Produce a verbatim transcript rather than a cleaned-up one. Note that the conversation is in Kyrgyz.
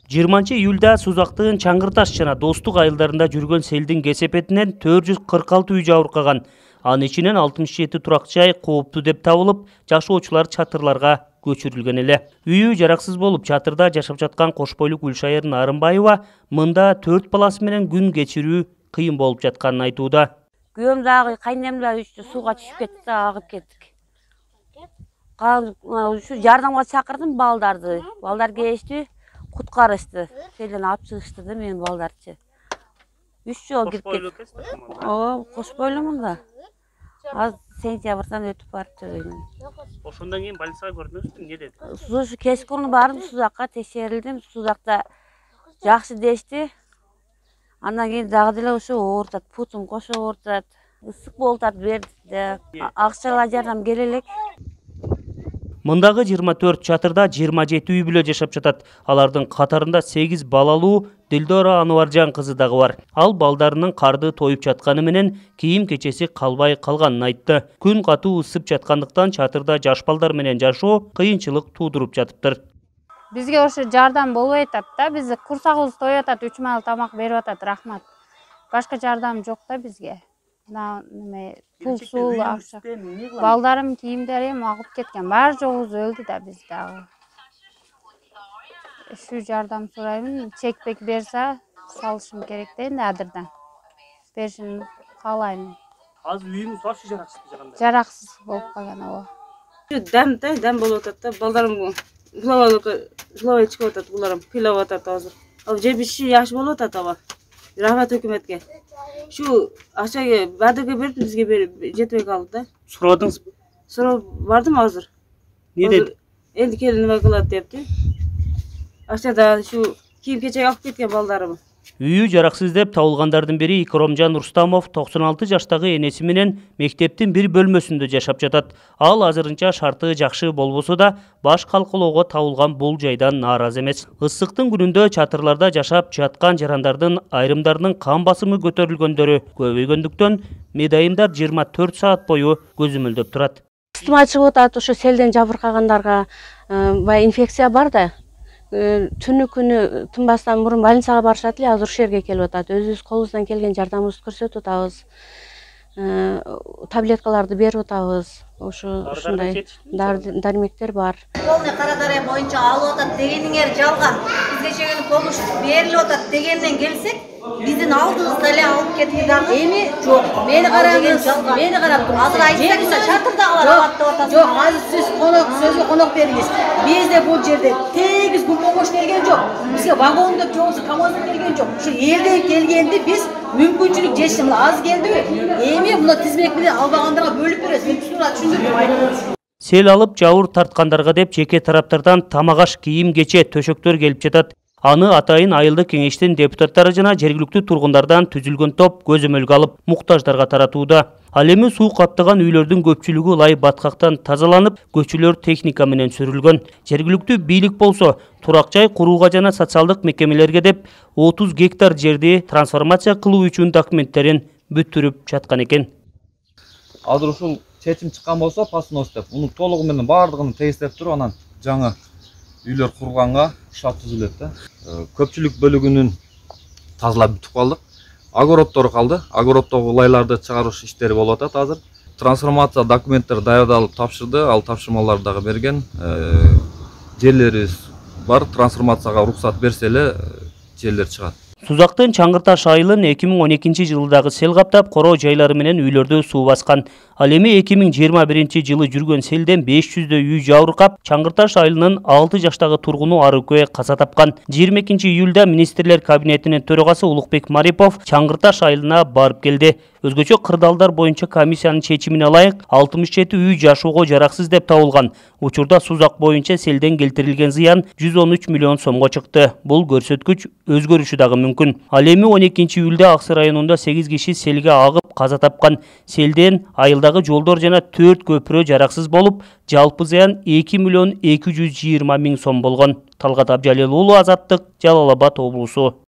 жыйырманчы июлда Сузактын Чаңгырташ жана Достук айылдарында жүргөн селдин кесепетинен төрт жүз кырк алты үй жабыркаган. Анын ичинен алтымыш жети турак жай кооптуу деп табылып, жашоочулар чатырларга көчүрүлгөн эле. Үйү жараксыз болуп, чатырда жашап жаткан Кошбойлук Гүлшайыр Нарымбаева мында төрт баласы менен күн кечирүү кыйын болуп жатканын айтууда. Күйөөм дагы, кайнем да сууга түшүп кетти да, агып кеттик. Ушу жардамга чакырдым балдарды. Балдар келишти, куткарышты. Селден алып чыгышты да менин балдарчы. Үч жол кирип кетти. Ооба, Кошбойлумун да. Az сентябрдан өтүп барыптыр. Ошондон кийин больницага көрдүңүзбү? Эмне деди? Ушу кечкурун бардым, Сузакка текшерилдим. Сузакта жакшы дешти. Андан кийин дагы деле ошо оорутат, путум кошо оорутат. Ысык болуп атат берди. Акчалай жардам келе элек. Мындагы жыйырма төрт чатырда жыйырма жети үй бүлө жашап жатат. Алардын катарында сегиз балалуу Дилдора Ануаржан кызы дагы бар. Ал балдарынын карды тоюп жатканы менен кийим кечеси калбай калганын айтты. Күн катуу ысып жаткандыктан чатырда жаш балдар менен жашоо кыйынчылык туудуруп жатыптыр. Бизге ошо жардам болбой атат да, биз курсагыбыз тоюп атат, үч маал тамак берип атат, рахмат. Башка жардам жок да бизге. Неме пул суу акча. Балдарым кийимдерим агып кеткен. Баары жогубуз өлдү да биз дагы. Ушу жардам сураймын, чекпек берсе салышым керек да энди адырдан. Беришин каалайм. Азыр үйүңүз барчы жараксыз жаганда? Жараксыз болуп калган ооба. Дам да, дам болуп атат да. Балдарым жылабай чыгып атат, буларым кыйлап атат азыр. Ал жеп ичиши жакшы болуп атат аба. Рахмат өкмөткө. Şu aşağıya va'daga berip bizge berip жетпей kaldı da. Soradыңызбы? Сурап бардым азыр. Не dedi? Endi kelin nima qiladi debdi. Aşağıda şu kiyim kechak alып ketкен балдарым. Үйү жараксыз деп табылгандардын бири Икромжан Рустамов токсон алты жаштагы энеси менен мектептин бир бөлмөсүндө жашап жатат. Ал азырынча шарты жакшы болбосо да баш калкалоого табылган бул жайдан нааразы эмес. Ысыктын күнүндө чатырларда жашап жаткан жарандардын айрымдарынын кан басымы көтөрүлгөндөрү көбөйгөндүктөн медайымдар жыйырма төрт саат бою көзөмөлдөп турат. Ыстыма чыгып атат, ошо селден жабыркагандарга баягы инфекция бар да. Түнү күнү тынбастан мурун больницага барышат эле, азыр ушул жерге келип атат. Өзүбүз колубуздан келген жардамыбызды көрсөтүп атабыз. Таблеткаларды берип атабыз. Ошо ушундай дармектер бар. Полный кара дарая боюнча алып атат дегениңер жалган. Бизге чейин помощь берилип атат дегенден келсек, биздин алдыбызда эле алып кетти дагы. Эми жок. Мени караңыз, мени карап туруңуз. Азыр айтсаңыз чатырдагылар алат деп атасыз. Жок, азыр сиз конок сөзгө конок бериңиз. Бизде бул жерде тегиз бул помощь келген жок. Бизге вагон деп жобосу КамАЗ келген жок. Ушу элден келгенди биз мүмкүнчүлүк жетишти. Мына аз келдиби? Эми мына тизмек менен албагандарга бөлүп беребиз. Мен түшүндүрүп Сел алып жауыр тарткандарга деп жеке тараптардан тамагаш, кийим кече, төшөктөр келип жатат. Аны атайын айылды кеңештин депутаттары жана жергиликтүү тургундардан түзүлгөн топ көзөмөлгө алып, муктаждарга таратууда. Ал эми суу каптаган үйлөрдүн көпчүлүгү лай баткактан тазаланып, көчөлөр техника менен сүрүлгөн. Жергиликтүү бийлик болсо, турак жай курууга жана социалдык мекемелерге деп отуз гектар жерди трансформация кылуу үчүн документтерин бүттүрүп жаткан экен. Азыр ушул чечим чыккан болсо, пасынос деп, муну толугу менен баардыгын тегистеп туруп, анан жаңы үйлөр курганга шарт түзүлөт да. Көпчүлүк бөлүгүнүн тазалап бүтүп калдык. Огороддор калды. Огороддогу лайларды чыгарыш иштери болуп атат азыр. Трансформация документтер даярдалып тапшырды, ал тапшырмаларды дагы берген. Жерлерибиз бар, трансформацияга уруксат берсе эле жерлер чыгат. Сузактын Чаңгырташ айылын эки миң он экинчи жылдагы сел каптап, короо жайлары менен үйлөрдү суу баскан. Ал эми эки миң жыйырма биринчи жылы жүргөн селден беш жүздөй үй жабыркап, Чаңгырташ айылынын алты жаштагы тургуну Арыкөе каза тапкан. жыйырма экинчи июлда министрлер кабинетинин төрагасы Улукбек Марипов Чаңгырташ айылына барып келди. Өзгөчө кырдаалдар боюнча комиссиянын чечимине ылайык алтымыш жети үй жашоого жараксыз деп табылган. Учурда Сузак боюнча селден келтирилген зыян жүз он үч миллион сомго чыкты. Бул көрсөткүч өзгөрүшү дагы мүмкүн. Ал эми он экинчи июлда Аксы районунда сегиз киши селге агып каза тапкан. Селден айылдагы жолдор жана төрт көпүрө жараксыз болуп, жалпы зыян эки миллион эки жүз жыйырма миң сом болгон. Талгат Абжалил уулу, Азаттык, Жалал Абад облусу.